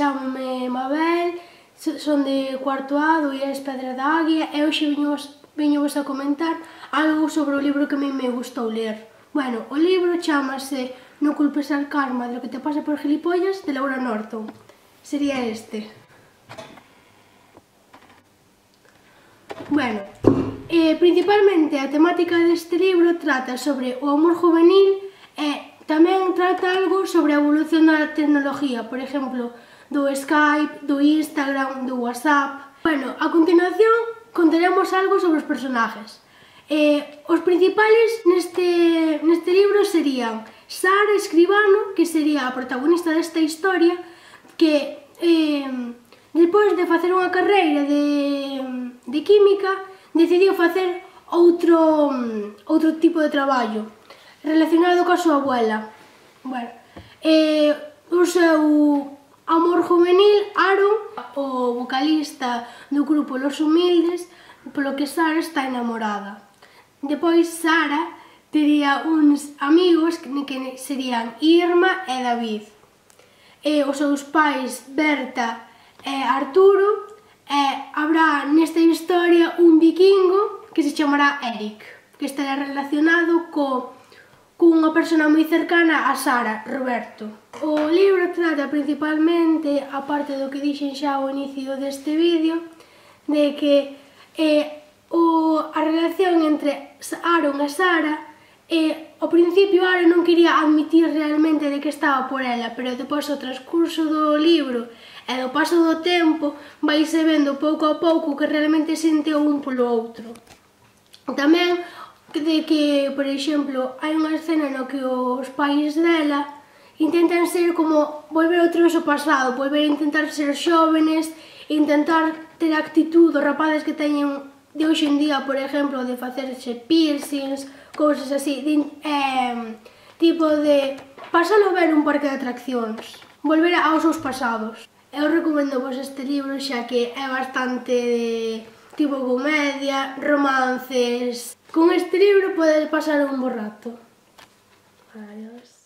Chámame Mabel, son de cuarto A do IES Pedra da Águia e hoxe viñovos a comentar algo sobre o libro que a mí me gustou ler. Bueno, o libro chamase No culpes al karma de lo que te pasa por gilipollas, de Laura Norton. Sería este. Bueno, principalmente a temática deste libro trata sobre o amor juvenil e tamén trata algo sobre a evolución da tecnología, por exemplo, do Skype, do Instagram, do WhatsApp. Bueno, a continuación contaremos algo sobre os personajes. Os principales neste libro serían Sara Escribano, que sería a protagonista desta historia, que despois de facer unha carreira de química decidiu facer outro tipo de traballo relacionado coa súa abuela. Bueno, o seu amor juvenil, Aaron, o vocalista do grupo Los Humildes, polo que Sara está enamorada. Depois Sara tería uns amigos que serían Irma e David. Os seus pais, Berta e Arturo, e habrá nesta historia un vikingo que se chamará Eric, que estará relacionado cunha persona moi cercana a Sara, Roberto. O libro trata principalmente, aparte do que dixen xa ao inicio deste vídeo, de que a relación entre Aaron e Sara, ao principio Aaron non quería admitir realmente de que estaba por ela, pero depois ao transcurso do libro e do paso do tempo vaise vendo pouco a pouco que realmente sente o un polo outro. Tamén de que, por exemplo, hai unha escena no que os pais dela intentan ser como volver outra vez ao pasado, volver a intentar ser xóvenes, intentar ter a actitud dos rapaces que teñen de hoxe en día, por exemplo, de facerse piercings, cousas así, tipo de pasalo ben un parque de atraccións, volver aos seus pasados. Eu recomendo vos este libro xa que é bastante de tipo comedia, romances. Con este libro podes pasar un bo rato. Adiós.